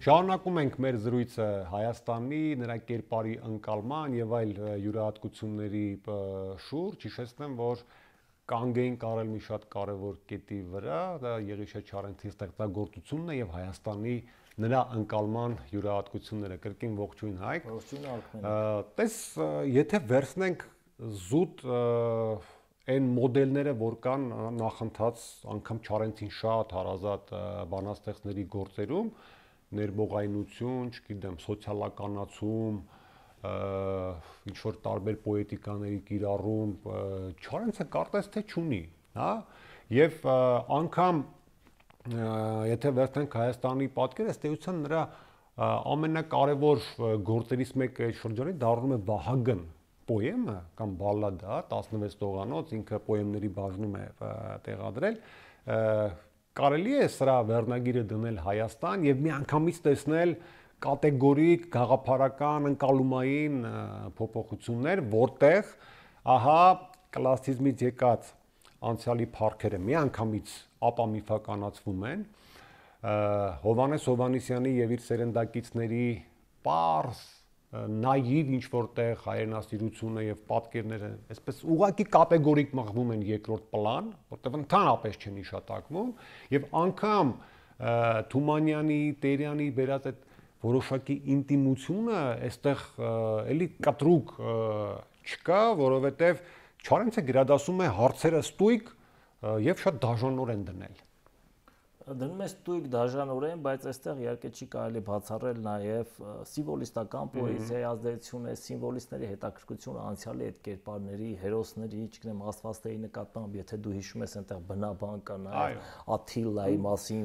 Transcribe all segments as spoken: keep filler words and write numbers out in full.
Շարունակում ենք մեր զրույցը Հայաստանի, նրա կերպարի ընկալման եւ այլ յուրահատկությունների շուրջ, հիշեցնեմ, որ կանգ էինք արել մի շատ կարևոր կետի վրա, դա Եղիշե Չարենցի ստեղծագործությունն է եւ Հայաստանի նրա ընկալման յուրահատկությունները։ Կրկին ողջույն Հայկ։ Ողջույն Արքմեն։ Տես, եթե վերցնենք զուտ այն մոդելները, որ կան նախընթաց անգամ Չարենցին շատ հարազատ բանաստեղծների գործերում, ներբողայնություն, չգիտեմ, սոցիալականացում, ինչ որ տարբեր պոետիկաների կիրառում, Չարենցը կարծես թե չունի, հա, եւ անգամ եթե վերցնենք Հայաստանի պատկերը, ըստ էության նրա ամենակարևոր գործերից մեկը այդ շրջանի դառնում է Վահագն պոեմը կամ բալլադա, տասնվեց տողանոց, ինքը պոեմների բաժնում է տեղադրել, կարելի է սրա վերնագիրը դնել Հայաստան եւ միանգամից տեսնել կատեգորիկ գաղափարական ընկալումային փոփոխություններ, որտեղ ահա կլասիցիզմից եկած անցյալի փառքերը միանգամից ապամիֆականացվում են, Հովհաննես Հովհաննիսյանի եւ իր սերնդակիցների պարզ նաիվ ինչ որտեղ հայրենասիրությունը եւ պատկերները այսպես ուղղակի կատեգորիկ մղվում են երկրորդ պլան, որտեղ ընդհանրապես չեն իշատակվում եւ անգամ Թումանյանի, Տերյանի վերած այդ որոշակի ինտիմությունը այստեղ էլի կտրուկ չկա, որովհետեւ Չարենցը գրադասում է հարցերը ստույգ եւ շատ դաժանորեն դնել։ Դնում է ստույգ դաժանորեն, բայց այստեղ իհարկե չի կարելի բացառել նաև սիմվոլիստական պոեզիայի ազդեցությունը, սիմվոլիստների հետաքրքրությունը անցյալի այդ կերպարների, հերոսների, չգիտեմ, աստվածների նկատմամբ, եթե դու հիշում ես այնտեղ բնաբան կա նաև Աթիլայի մասին,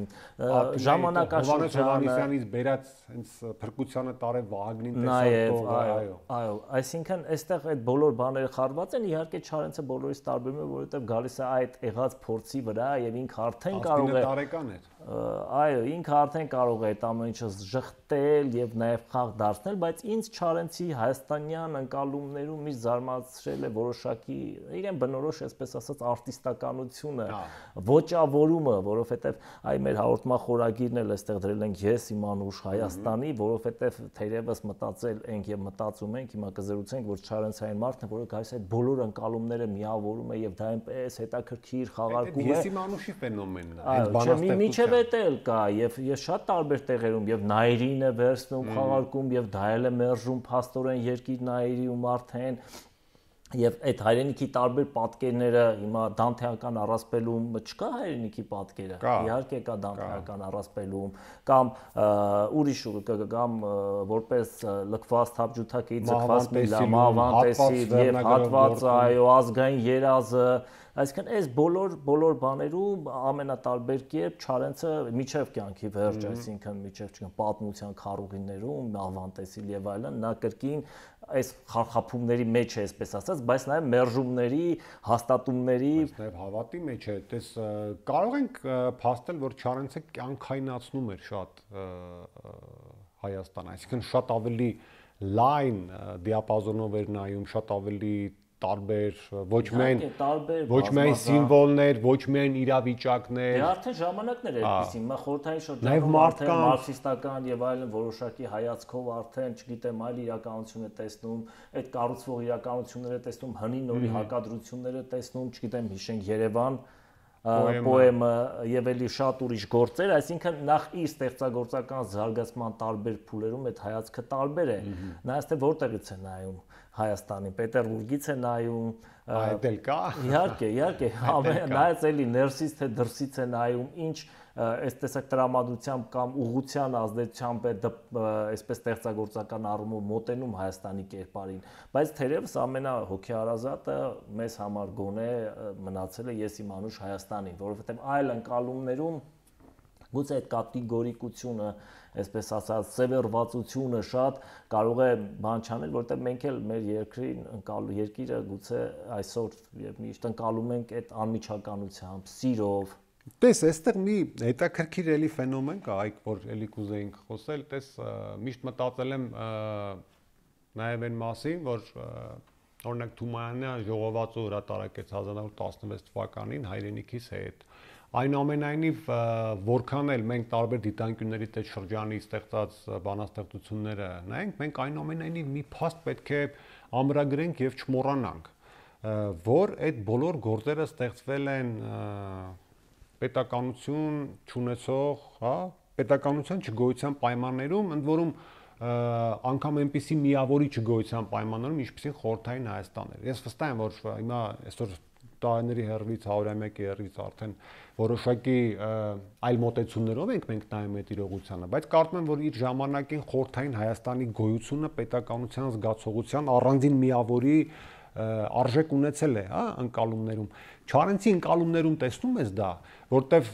ժամանակաշրջանը Հովհաննեսյանից բերած հենց փրկությանը տարե Վահագնին տեսած, այո, այո, այսինքն այստեղ այդ բոլոր բաները խառնված են, իհարկե Չարենցը բոլորից տարբերում է, որովհետև գալիս է այդ եղած փորձի վրա եւ ինքը արդեն կարող է Այո, ինքը արդեն կարող է այդ ամեն ինչը ժխտել եւ նաեւ խաղ դարձնել, բայց ինձ Չարենցի հայաստանյան ընկալումներում միշտ զարմացրել է որոշակի իրեն բնորոշ, այսպես ասած, արտիստականությունը, ոճավորումը, որովհետեւ այ մեր հաղորդման խորագիրն էլ այստեղ դրել ենք ես իմ անուշ Հայաստանի, որովհետեւ թերևս մտածել ենք եւ մտածում ենք, հիմա կզրուցենք, որ Չարենցային մարդն է, որը գալիս է այդ բոլոր ընկալումները միավորում է եւ դա այնպես հետաքրքիր խաղարկում է։ Ես իմ անուշի ֆենոմենն է, այդ բանաստեղծությունը Էլ կա եւ ես շատ տարբեր տեղերում եւ Նայիրին է վերցնում խաղարկում եւ դա էլ է մերժում փաստորեն երկիր Նայիրիում արդեն եւ այդ հայրենիքի տարբեր պատկերները հիմա Դանթեական առասպելում չկա հայրենիքի պատկերը իհարկե կա Դանթեական առասպելում կամ ուրիշ կամ որպես լքված թավջութակի ձգված միլամավան տեսիլ եւ հատվածը այո ազգային երազը Այսինքն այս բոլոր բոլոր բաներում ամենատարբեր կերպ Չարենցը միջև կյանքի վերջ, այսինքն միջև չգիտեմ պատմության քառուղիներում, ավանտեսիլ եւ այլն, նա կրկին այս խարխափումների մեջ է, այսպես ասած, բայց նաեւ մերժումների, հաստատումների, բայց նաեւ հավատի մեջ է, դες կարող ենք փաստել, որ Չարենցը կյանքայնացնում էր շատ Հայաստան, այսինքն շատ ավելի լայն դիապազոնով էր նայում, շատ ավելի տարբեր ոչ միայն ոչ միայն սիմվոլներ, ոչ միայն իրավիճակներ։ Դե արդեն ժամանակներ էր այդպեսին, մա խորհրդային շրջանում արդեն մարքսիստական եւ այլն որոշակի հայացքով արդեն, չգիտեմ, այլ իրականություն է տեսնում, այդ կառուցվող իրականությունները տեսնում, հնի նորի հակադրությունները տեսնում, չգիտեմ, հիշենք Երևան պոեմը եւ էլի շատ ուրիշ գործեր, այսինքն նախ իր ստեղծագործական զարգացման տարբեր փուլերում այդ հայացքը տարբեր է։ Նայած թե որտեղից է նայում Հայաստանին, Պետերբուրգից է նայում, այդ էլ կա։ Իհարկե, իհարկե, նայած էլի ներսից թե դրսից է նայում, ինչ այս տեսակ տրամադրությամբ կամ ուղղության ազդեցությամբ է այսպես ստեղծագործական առումով մոտենում Հայաստանի կերպարին, բայց թերևս ամենահոգեհարազատը մեզ համար գոնե մնացել է ես իմ անուշ Հայաստանին, որովհետև այլ ընկալումներում գուցե այդ կատեգորիկությունը, այսպես ասած, սևեռվածությունը շատ կարող է բան չանել, որովհետև մենք էլ մեր երկրին ընկալու երկիրը գուցե այսօր եւ միշտ ընկալում ենք այդ անմիջականությամբ, սիրով Տես, այստեղ մի հետաքրքիր էլի ֆենոմեն կա, այք որ էլի կուզեինք խոսել, տես միշտ մտածել եմ նաև այն մասին, որ օրինակ Թումանյանը ժողովածու հրատարակեց հազար նորը տասնվեց թվականին հայրենիքիս հետ, Այնուամենայնիվ, որքան էլ մենք տարբեր դիտանկյուններից այդ շրջանի ստեղծած բանաստեղծությունները նայենք, մենք այնուամենայնիվ մի փաստ պետք է ամրագրենք եւ չմոռանանք, որ այդ բոլոր գործերը ստեղծվել են պետականություն չունեցող, հա, պետականության չգոյության պայմաններում, ընդ որում անգամ այնպիսի միավորի չգոյության պայմաններում, ինչպիսին խորհրդային Հայաստանն էր։ Ես վստահ եմ, որ հիմա այսօր տարիների հեռվից հարյուրամյակի հեռվից արդեն որոշակի այլ մոտեցումներով ենք մենք նայում այդ իրողությանը, բայց կարծում եմ, որ իր ժամանակին խորհրդային Հայաստանի գոյությունը պետականության զգացողության առանձին միավորի արժեք ունեցել է, հա, ընկալումներում։ Չարենցի ընկալումներում տեսնում ես դա, որտեվ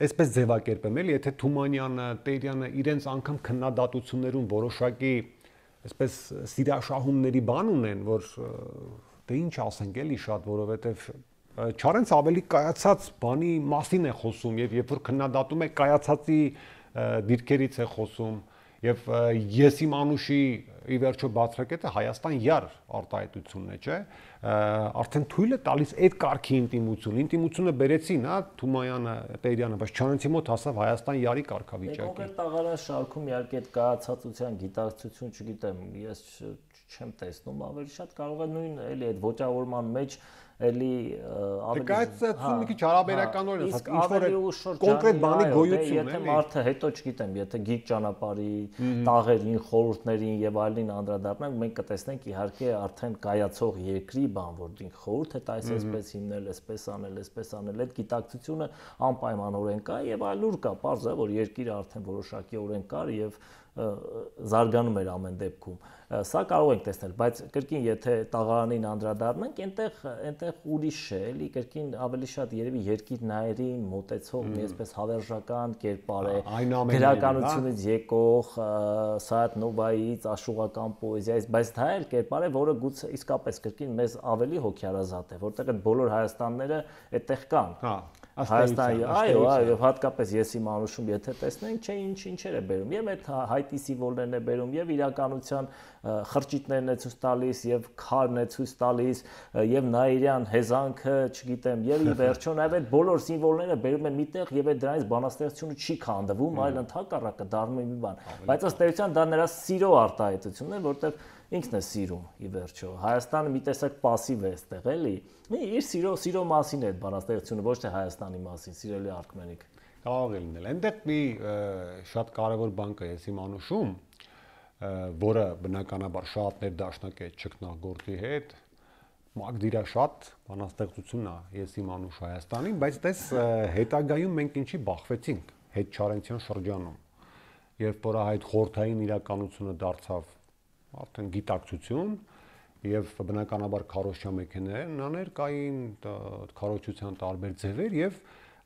այսպես ձևակերպեմ, էլի, եթե Թումանյանը, Տերյանը իրենց անգամ քննադատություններում որոշակի այսպես սիրաշահումների բան ունեն, որ դե ինչ ասենք, էլի շատ, որովհետև Չարենցը ավելի կայացած բանի մասին է խոսում եւ երբ որ քննադատում է կայացածի դիրքերից է խոսում եւ ես իմ անուշի ի վերջո բացրակետը Հայաստան յար արտահայտությունն է, չէ՞, արդեն թույլ է տալիս այդ կարգի ինտիմություն, ինտիմությունը բերեցին, հա, Թումանյանը, Տերյանը, բայց Չարենցի մոտ հասավ Հայաստան յարի կարգավիճակի։ Կոնկրետ տաղարան շարքում իհարկե այդ կայացածության գիտակցություն, չգիտեմ, ես չեմ տեսնում, ավելի շատ կարող է նույն էլի այդ ոճավորման մեջ էլի ավելի կայացածությունը մի քիչ հարաբերականորեն է, ինչ որ կոնկրետ բանի գոյությունն է։ Եթե մարդը հետո չգիտեմ, եթե գիծ ճանապարհի տաղերին, խորհուրդներին եւ այլին անդրադառնանք, մենք կտեսնենք իհարկե արդեն կայացող երկրի բան, որ ինք խորհուրդ է տալիս այսպես հիմնել, այսպես անել, այսպես անել, այդ գիտակցությունը անպայմանորեն կա եւ այլուր կա, պարզ է, որ երկիրը արդեն որոշակի օրեն կար եւ զարգանում էր ամեն դեպքում։ Սա կարող ենք տեսնել, բայց կրկին եթե տաղարանին անդրադառնանք, այնտեղ այնտեղ ուրիշ է, էլի կրկին ավելի շատ երևի երկիր նայերին մոտեցող մի այսպես հավերժական կերպար է, գրականությունից եկող, Սայաթ Նովայից, աշուղական պոեզիայից, բայց դա էլ կերպար է, որը գուցե իսկապես կրկին մեզ ավելի հոգեարազատ է, որտեղ այդ բոլոր Հայաստանները այդտեղ կան։ Հա Հայաստանի, այո, այո, հատկապես ես իմ անուշում եթե տեսնենք, չէ, ինչ ինչեր է բերում, եւ այդ հայտի սիմվոլներն է բերում, եւ իրականության խրճիթներն է ցույց տալիս, եւ քարն է ցույց տալիս, եւ նայիրյան հեզանքը, չգիտեմ, եւ ի վերջո նաեւ այդ բոլոր սիմվոլները բերում են միտեղ եւ այդ դրանից բանաստեղծությունը չի քանդվում, այլ ընդհակառակը դառնում է մի բան, բայց ըստ էության դա նրա սիրո արտահայտությունն է, որտեղ ինքն է սիրում ի վերջո։ Հայաստանը մի տեսակ пассив է այստեղ, էլի։ Իր սիրո սիրո մասին է այդ բանաստեղծությունը, ոչ թե Հայաստանի մասին, սիրելի Արքմենիկ։ Կարող է լինել։ Այնտեղ մի շատ կարևոր բան կա ես իմ անուշում, որը բնականաբար շատ ներդաշնակ է ճգնագործի հետ, Մագդիրա շատ բանաստեղծությունն է ես իմ անուշ Հայաստանին, բայց դες հետագայում մենք ինչի բախվեցինք հետ Չարենցյան շրջանում, երբ որ այդ խորհրդային իրականությունը դարձավ արդեն գիտակցություն եւ բնականաբար քարոզչա մեքենաներ կային, քարոզչության տարբեր ձևեր եւ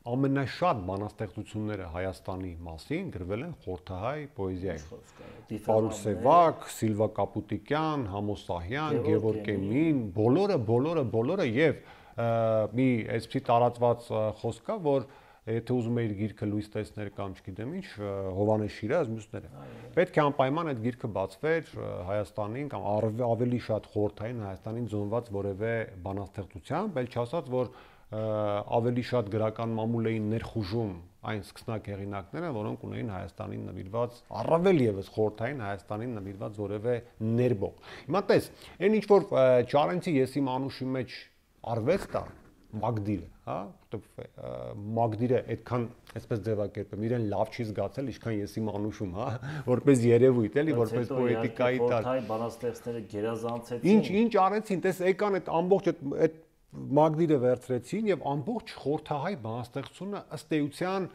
ամենաշատ բանաստեղծությունները Հայաստանի մասին գրվել են խորհրդահայ պոեզիայում։ Պարուլ Սևակ, Սիլվա Կապուտիկյան, Համոս Սահյան, Գևորգ Էմին, բոլորը, բոլորը, բոլորը եւ մի այսպիսի տարածված խոսք կա, որ եթե ուզում էիր գիրքը լույս տեսներ կամ չգիտեմ ինչ, Հովանես Շիրազ, մյուսները։ Պետք է անպայման այդ գիրքը բացվեր Հայաստանին կամ ավելի շատ խորհրդային Հայաստանին զոնված որևէ բանաստեղծությամբ, այլ չասած, որ ավելի շատ գրական մամուլ էին ներխուժում այն սկսնակ հեղինակները, որոնք ունեին Հայաստանին նվիրված, առավել եւս խորհրդային Հայաստանին նվիրված որևէ ներբող։ Հիմա տես, այն ինչ որ Չարենցի ես իմ անուշի մեջ արվեստ է, Մագդիրը, հա, Մագդիրը այդքան այսպես ձևակերպեմ, իրեն լավ չի զգացել, ինչքան ես իմ անուշում, հա, որպես երևույթ, էլի, որպես պոետիկայի տակ։ Խորհրդային բանաստեղծները գերազանցեցին։ Ինչ, ինչ արեցին, տես եկան այդ ամբողջ այդ Մագդիրը վերցրեցին եւ ամբողջ խորհրդահայ բանաստեղծությունը ըստ էության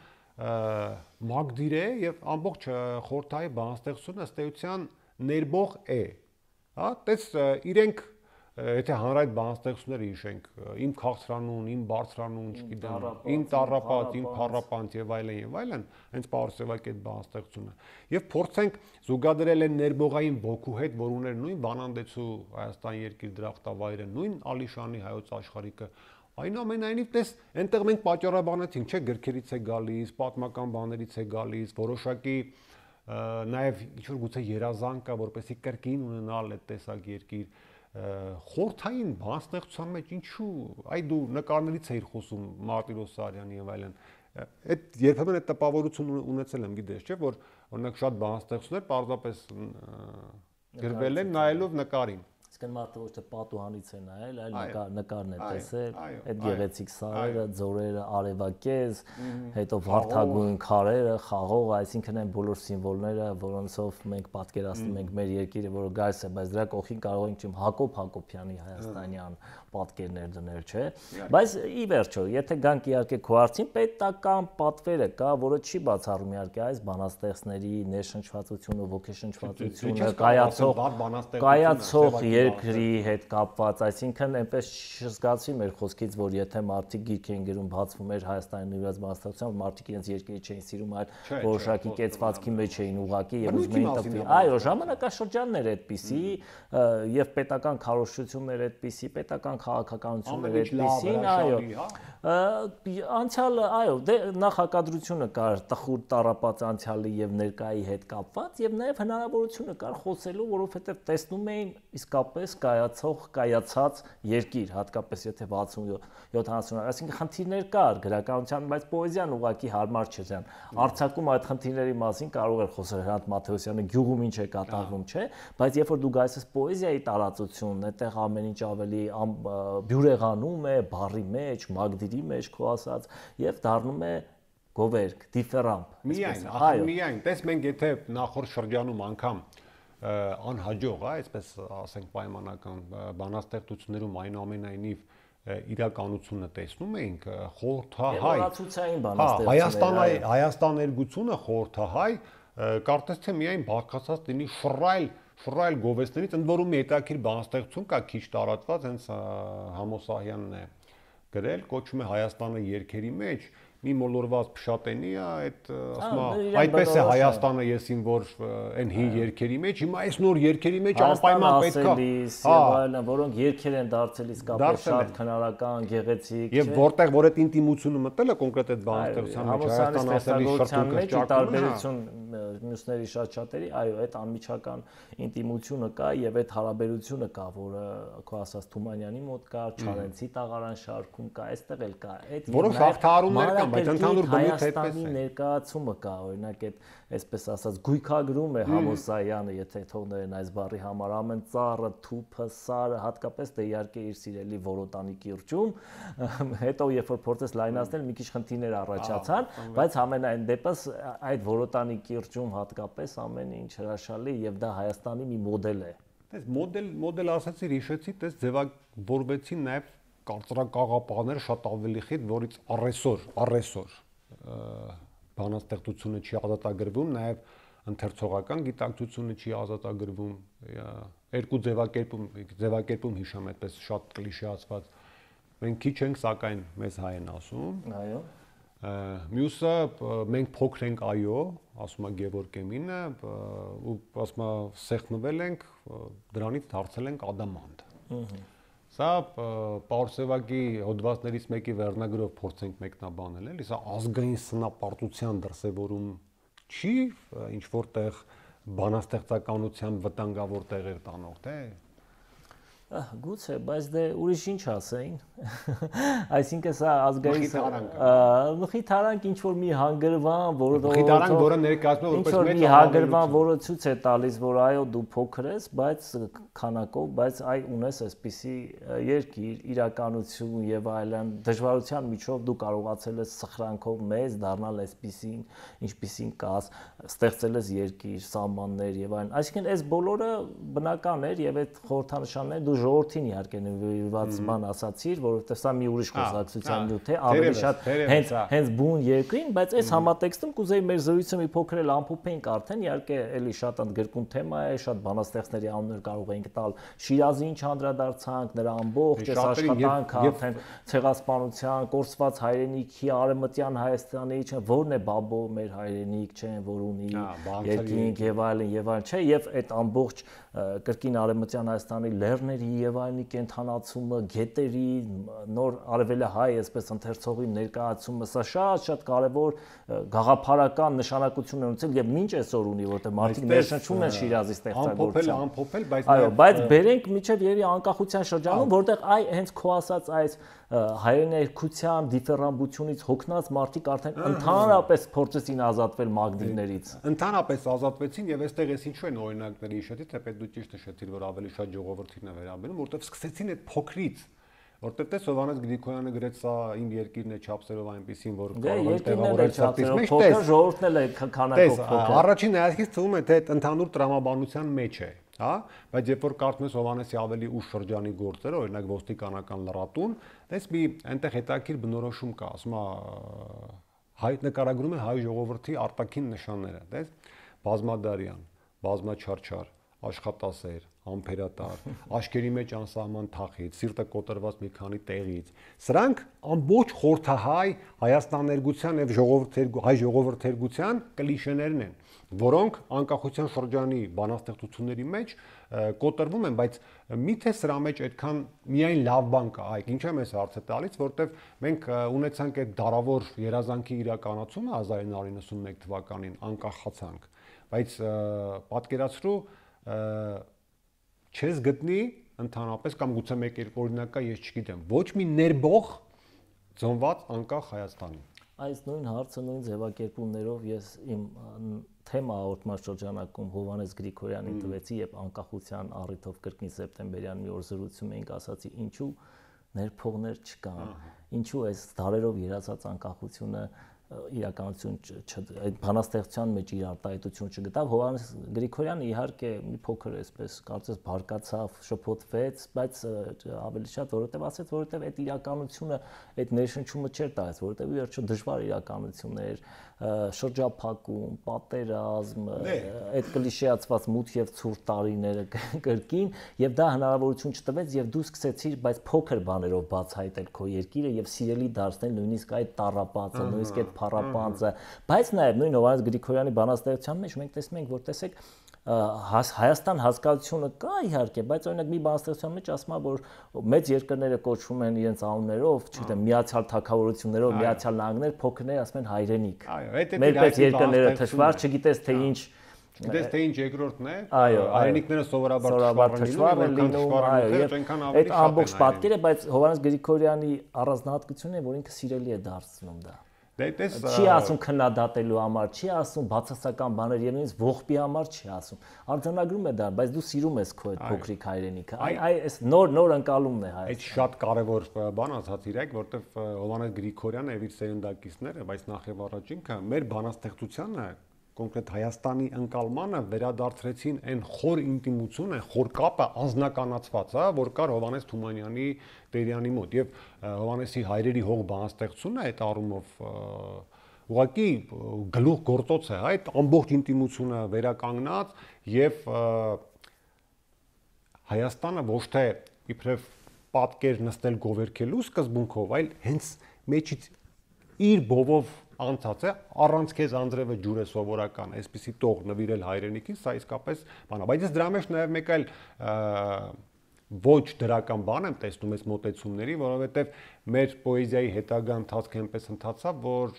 Մագդիր է եւ ամբողջ խորհրդահայ բանաստեղծությունը ըստ էության ներբող է։ Հա, տես իրենք եթե հանրայդ բանաստեղծությունները հիշենք, իմ քաղցրանուն, իմ բարձրանուն, չգիտեմ, իմ տառապած, իմ փառապանց եւ այլն եւ այլն, հենց Պարուլ Սևակի այդ բանաստեղծությունը։ Եվ փորձենք զուգադրել են ներբողային ոգու հետ, որ ուներ նույն Վանանդեցու Հայաստան երկիր դրախտավայրը, նույն Ալիշանի հայոց աշխարհիկը։ Այնուամենայնիվ, տես, այնտեղ մենք պատճառաբանեցինք, չէ, գրքերից է գալիս, պատմական բաներից է գալիս, որոշակի նաեւ ինչ որ գուցե երազանք կա, որպեսզի կրկին ունենալ այդ տեսակ երկիր։ խորթային բանաստեղծության մեջ ինչու այ դու նկարներից էիր խոսում Մարտիրոս Սարյանի եւ այլն այդ երբեմն այդ տպավորություն ունեցել եմ գիտես չէ որ օրինակ շատ բանաստեղծներ պարզապես գրվել են նայելով նկարին Իսկն մարդը ոչ թե պատուհանից է նայել, այլ նկար նկարն է տեսել, այդ գեղեցիկ սարերը, ձորերը, արևակեզ, հետո վարդագույն քարերը, խաղող, այսինքն այն բոլոր սիմվոլները, որոնցով մենք պատկերացնում ենք մեր երկիրը, որը գալիս է, բայց դրա կողքին կարող ենք չեմ Հակոբ Հակոբյանի հայաստանյան պատկերներ դնել, չէ։ Բայց ի վերջո, եթե գանք իհարկե քո արդին պետական պատվերը կա, որը չի բացառում իհարկե այս բանաստեղծների ներշնչվածությունը, ոգեշնչվածությունը, կայացող կայացող երկրի հետ կապված, այսինքն այնպես չզգացվի մեր խոսքից, որ եթե մարդիկ գիրք են գրում բացվում էր Հայաստանի նվիրված բանաստեղծությամբ, մարդիկ իրենց երկիրը չէին սիրում, այլ որոշակի կեցվածքի մեջ էին ուղակի եւ ուզում էին տպվի։ Այո, ժամանակաշրջանն էր այդպիսի եւ պետական քարոզչություններ այդպիսի, պետական քաղաքականություններ այդպիսին, այո։ Անցյալը, այո, դե նախակադրությունը կար տխուր տառապած անցյալի եւ ներկայի հետ կապված եւ նաեւ հնարավորությունը կար խոսելու, որովհետեւ տեսնում էին իսկապես կայացող, կայացած երկիր, հատկապես եթե վաթսուն-յոթանասուն, այսինքն խնդիրներ կար գրականության, բայց պոեզիան ուղղակի հարմար չէր դրան։ Արձակում այդ խնդիրների մասին կարող էր խոսել Հրանտ Մաթեոսյանը գյուղում ինչ է կատարվում, չէ, բայց երբ որ դու գայես պոեզիայի տարածությունն, այդտեղ ամեն ինչ ավելի բյուրեղանում է, բառի մեջ, մագդիրի մեջ, քո ասած, եւ դառնում է գովերք, դիֆերանտ։ Միայն, ահա միայն, տես մենք եթե նախորդ շրջանում անգամ անհաջող, այսպես ասենք պայմանական բանաստեղծություններում այնուամենայնիվ իրականությունը տեսնում էինք խորհրդահայ Հայաստանի Հայաստան երգությունը խորհրդահայ կարծես թե միայն բաղկացած լինի շռայլ շռայլ գովեստներից, ընդ որում մի հետաքրքիր բանաստեղծություն կա քիչ տարածված, հենց Համոսահյանն է գրել, կոչվում է Հայաստանը երգերի մեջ մի մոլորված փշատենի է, այդ ասում է, այդպես է Հայաստանը եսին, որ այն հին երգերի մեջ, հիմա այս նոր երգերի մեջ անպայման պետք է, որոնք երգեր են դարձել իսկապես շատ քնարական, գեղեցիկ, եւ որտեղ որ այդ ինտիմությունը մտել է կոնկրետ այդ բանաստեղծության մեջ, Հայաստան ասելի շրթունքը տարբերություն մյուսների շատ շատերի, այո, այդ անմիջական ինտիմությունը կա եւ այդ հարաբերությունը կա, որը քո ասած Թումանյանի մոտ կա, Չարենցի տաղարան շարքում կա, այստեղ էլ կա, այդ որոնք հաղթահարումներ կան, բայց ընդհանուր բնույթ այդպես է։ Ներկայացումը կա, օրինակ այդ այսպես ասած գույքագրում է Համոսայանը, եթե թողներն այս բառի համար ամեն ծառը, թուփը, սարը, հատկապես դե իհարկե իր սիրելի Որոտանի կիրճում, հետո երբ որ փորձես լայնացնել, մի քիչ խնդիրներ առաջացան, բայց ամենայն դեպս այդ Որոտանի կիրճում հատկապես ամեն ինչ հրաշալի եւ դա Հայաստանի մի մոդել է։ Տես մոդել մոդել ասացի, հիշեցի, տես ձևավորվեցին նաեւ կարծրակաղապանները շատ ավելի խիտ, որից առեսօր, առեսօր բանաստեղծությունը չի ազատագրվում, նաև ընթերցողական գիտակցությունը չի ազատագրվում, երկու ձևակերպում, ձևակերպում հիշամ այդպես շատ կլիշեացված։ Մենք քիչ ենք, սակայն մեզ հայ են ասում։ Այո։ Մյուսը մենք փոքր ենք, այո, ասում է Գևորգ Էմինը, ու ասում է սեղմվել ենք, դրանից դարձել ենք ադամանտ։ Սա Պարսևակի հոդվածներից մեկի վերնագրով փորձենք մեկնաբանել, էլի սա ազգային սնապարտության դրսևորում չի, ինչ որտեղ բանաստեղծականության վտանգավոր տեղեր տանող, թե Գուցե, բայց դե ուրիշ ինչ ասեին։ Այսինքն սա ազգային մխիթարանք ինչ որ մի հանգրվան, որը մխիթարանք, որը ներկայացնում է որպես մեծ հանգրվան, որը ցույց է տալիս, որ այո դու փոքր ես, բայց քանակով, բայց այ ունես այսպիսի երկիր, իրականություն եւ այլն, դժվարության միջով դու կարողացել ես սխրանքով մեծ դառնալ այսպիսին, ինչպիսին կաս, ստեղծել ես երկիր, սահմաններ եւ այլն։ Այսինքն այս բոլորը բնական էր եւ այդ խորհրդանշանները դու ժողովրդին իհարկե նվիրված բան ասացիր, որովհետև սա մի ուրիշ խոսակցության նյութ է, ավելի շատ հենց հենց բուն երկրին, բայց այս համատեքստում կուզեի մեր զրույցը մի փոքր էլ ամփոփենք արդեն, իհարկե էլի շատ ընդգրկուն թեմա է, շատ բանաստեղծների անուններ կարող ենք տալ, Շիրազի ինչ անդրադարձանք, նրա ամբողջ այս աշխատանքը, արդեն ցեղասպանության, կորսված հայրենիքի, արևմտյան Հայաստանի, չէ, որն է բաբո մեր հայրենիք, չէ, որ ունի երկինք եւ այլն եւ այլն, չէ, եւ այդ ամբողջ կրկին արևմտյան Հայաստանի լեռների եւ այլնի կենթանացումը, գետերի, նոր արևելահայ այսպես ընթերցողի ներկայացումը սա շատ-շատ կարևոր գաղափարական նշանակություն է ունեցել եւ մինչ այսօր ունի, որտեղ մարդիկ ներշնչում են Շիրազի ստեղծագործության։ Ամփոփել, բայց այո, բայց բերենք միջև երի անկախության շրջանում, որտեղ այ հենց քո ասած այս հայրեներկության դիֆերամբությունից հոգնած մարդիկ արդեն ընդհանրապես փորձեցին ազատվել մագնիներից։ Ընդհանրապես ազատվեցին եւ այստեղ էս ինչու են օրինակների հիշեցի, թեպետ դու ճիշտ նշեցիր, որ ավելի շատ ժողովրդին է վերաբերում, որտեղ սկսեցին այդ փոքրից, որտեղ տես Հովհաննես Գրիգորյանը գրեց սա իմ երկիրն է չափսերով այնպեսին, որ կարող է տեղավորել ցածրից մեջ, տես ժողովուրդն էլ է քանակով փոքր։ Առաջին հայացքից թվում է, թե այդ ընդհանուր տրամաբանության մեջ է, հա, բայց երբ որ կարդում ես Հովհաննեսի ավելի ուշ շրջանի գործերը, օրինակ ոստիկանական լրատուն, տես մի այնտեղ հետաքրքիր բնորոշում կա, ասում է հայ նկարագրում է հայ ժողովրդի արտաքին նշանները, տես բազմադարյան, բազմաչարչար, աշխատասեր, ամփերատար, աշկերի մեջ անսահման թախից, սիրտը կոտրված մի քանի տեղից։ Սրանք ամբողջ խորհրդահայ Հայաստաներգության եւ ժողովրդերգու հայ ժողովրդերգության կլիշեներն են, որոնք անկախության շրջանի բանաստեղծությունների մեջ կոտրվում են, բայց միթե սրա մեջ այդքան միայն լավ բան կա, այ ինչա՞ մեզ հարցը տալիս, որտեվ մենք ունեցանք այդ դարավոր երազանքի իրականացումը հազար ինը հարյուր նվսանմեկ թվականին անկախացանք, բայց պատկերացրու չես գտնի ընդհանրապես կամ գուցե մեկ երկու օրինակ կա, ես չգիտեմ, ոչ մի ներբող ծնված անկախ Հայաստանի։ Այս նույն հարցը նույն ձևակերպումներով ես իմ թեմա հաղորդման շրջանակում Հովհաննես Գրիգորյանին տվեցի, երբ անկախության առիթով կրկին սեպտեմբերյան մի օր զրուցում էինք, ասացի ինչու ներփողներ չկան, ինչու այս դարերով երազած անկախությունը իրականություն այդ բանաստեղծության մեջ իր արտահայտություն չգտավ։ Հովհաննես Գրիգորյանը իհարկե մի փոքր այսպես կարծես բարկացավ, շփոթվեց, բայց ավելի շատ որովհետև ասեց, որովհետև այդ իրականությունը, այդ ներշնչումը չէր տալիս, որովհետև ի վերջո դժվար իրականություն էր, շրջափակում, պատերազմ, այդ կլիշեացված մութ եւ ցուրտ տարիները կրկին, եւ դա հնարավորություն չտվեց եւ դու սկսեցիր բայց փոքր բաներով բացահայտել քո երկիրը եւ սիրելի դարձնել նույնիսկ այդ տառապածը, նույնիսկ այդ փառապանցը, բայց նաեւ նույն Հովհաննես Գրիգորյանի բանաստեղծության մեջ մենք տեսնում ենք, որ տեսեք Հայաստան հասկացությունը կա իհարկե, բայց օրինակ մի բանաստեղծության մեջ ասում է, որ մեծ երկրները կոչվում են իրենց անուններով, չգիտեմ, Միացյալ Թագավորություններով, Միացյալ Նահանգներ, փոքրները ասում են հայրենիք։ Մեր պես երկրները թշվառ, չգիտես թե ինչ Գիտես թե ինչ երկրորդն է, հայրենիքները սովորաբար թշվառ են լինում, այո, այդ ամբողջ պատկերը, բայց Հովհաննես Գրիգորյանի առանձնահատկությունն է, որ ինքը սիրելի է դարձնում դա։ Չի ասում քննադատելու համար, չի ասում բացասական բաներ եւ նույնիսկ ողբի համար չի ասում։ Արձանագրում է դա, բայց դու սիրում ես քո այդ փոքրիկ հայրենիքը։ Այ այս նոր նոր ընկալումն է հայ։ Այդ շատ կարևոր բան ասած իրեք, որտեվ Հովհաննես Գրիգորյանը եւ իր սերնդակիցները, բայց նախ եւ առաջ ինքը մեր բանաստեղծությանը կոնկրետ Հայաստանի ընկալմանը վերադարձրեցին այն խոր ինտիմությունը, խոր կապը անձնականացված, հա, որ կար Հովհաննես Թումանյանի Տերյանի մոտ եւ Հովհաննեսի հայրերի հող բանաստեղծությունը այդ առումով ուղղակի գլուխ գործոց է, հա, այդ ամբողջ ինտիմությունը վերականգնած եւ Հայաստանը ոչ թե իբրև պատկեր նստել գովերքելու սկզբունքով, այլ հենց մեջից իր բովով անցած է, առանց քեզ անձրևը ջուր է սովորական, այսպեսի տող նվիրել հայրենիքին, սա իսկապես բան է, բայց ես դրա մեջ նաև մեկ այլ ոչ դրական բան եմ տեսնում այս մոտեցումների, որովհետև մեր պոեզիայի հետագա ընթացքը այնպես ընթացավ, որ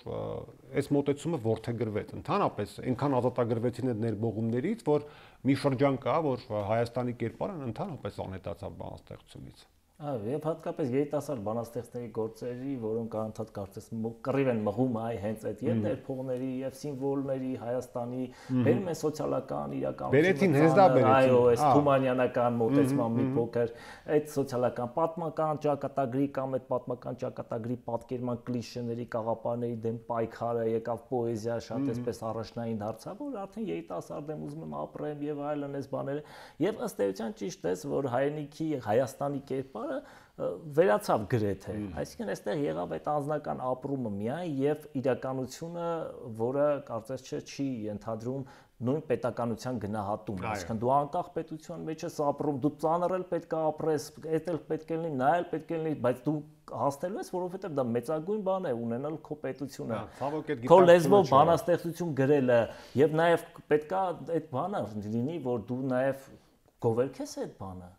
այս մոտեցումը որդեգրվեց, ընդհանրապես այնքան ազատագրվեցին այդ ներբողումներից, որ մի շրջան կա, որ Հայաստանի կերպարն ընդհանրապես անհետացավ բանաստեղծությունից։ Այո, եւ հատկապես երիտասարդ բանաստեղծների գործերի, որոնք անընդհատ կարծես կռիվ են մղում այ հենց այդ եւ ներփողների եւ սիմվոլների Հայաստանի բերում են սոցիալական իրականություն։ Այո, այս թումանյանական մոտեցման մի փոքր այդ սոցիալական պատմական ճակատագրի կամ այդ պատմական ճակատագրի պատկերման կլիշեների, կաղապարների դեմ պայքարը եկավ պոեզիա շատ այսպես առաջնային դարձավ, որ արդեն երիտասարդ եմ ուզում եմ ապրեմ եւ այլն այս բաները եւ ըստ էության ճիշտ է, որ հայրենիքի Հայաստանի կերպարը վերացավ գրեթե, այսինքն այստեղ եղավ այդ անձնական ապրումը միայն եւ իրականությունը, որը կարծես չէ չի ենթադրում նույն պետականության գնահատում, այսինքն դու անկախ պետության մեջ ես ապրում, դու ծանրել պետք է ապրես, այդել պետք է լինի, նա էլ պետք է լինի, բայց դու հասնելու ես, որովհետեւ դա մեծագույն բան է ունենալ քո պետությունը, քո լեզվով բանաստեղծություն գրելը եւ նաեւ պետք է այդ բանը լինի, որ դու նաեւ գովերքես այդ բանը։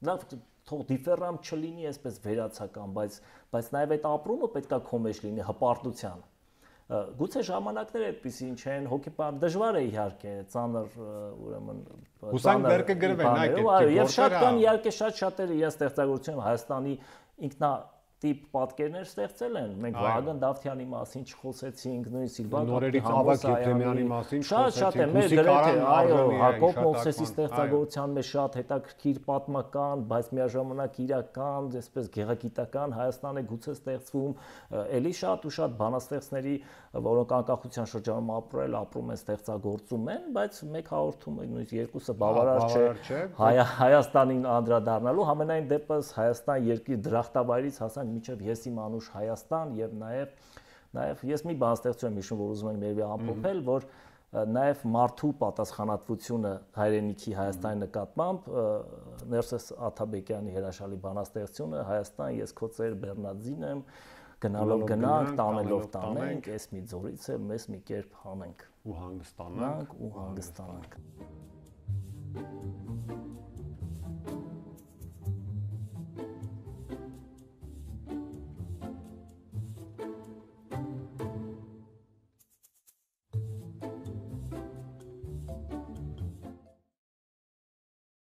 Լավ թող դիֆերանտ չլինի, այսպես վերացական, բայց բայց նաև այդ ապրումը պետքա քո մեջ լինի հպարտության։ Գուցե ժամանակները այդպեսին չեն, հոգեպար դժվար է իհարկե, ծանր ուրեմն հուսանք դեռ կգրվեն այդ կերպ։ Եվ շատ կան իհարկե շատ շատերը իրենց ստեղծագործությունում Հայաստանի ինքնա տիպ պատկերներ ստեղծել են։ Մենք Վահագն Դավթյանի մասին չխոսեցինք, նույն Սիլվա Կապիտամյանի մասին շատ-շատ է, մեր գրեթե այո, Հակոբ Մովսեսի ստեղծագործության մեջ շատ հետաքրքիր պատմական, բայց միաժամանակ իրական, այսպես գեղագիտական Հայաստան է գուցե ստեղծվում, էլի շատ ու շատ բանաստեղծների, որոնք անկախության շրջանում ապրել, ապրում են, ստեղծագործում են, բայց մեկ հաղորդումը նույնիսկ երկուսը բավարար չէ Հայաստանին անդրադառնալու, համենայն դեպս Հայաստան երկիր դրախտավայրից հասանք մինչև ես իմ անուշ Հայաստան եւ նաեւ նաեւ ես մի բան ստեղծում եմ հիշում, որ ուզում եմ երևի ամփոփել, որ նաեւ մարդու պատասխանատվությունը հայրենիքի Հայաստանի նկատմամբ Ներսես Աթաբեկյանի հրաշալի բանաստեղծությունը Հայաստան ես քո ծեր Բեռնադին եմ գնալով գնանք, տանելով տանենք, ես մի ձորից եմ, մեզ մի կերպ հանենք ու հանգստանանք ու հանգստանանք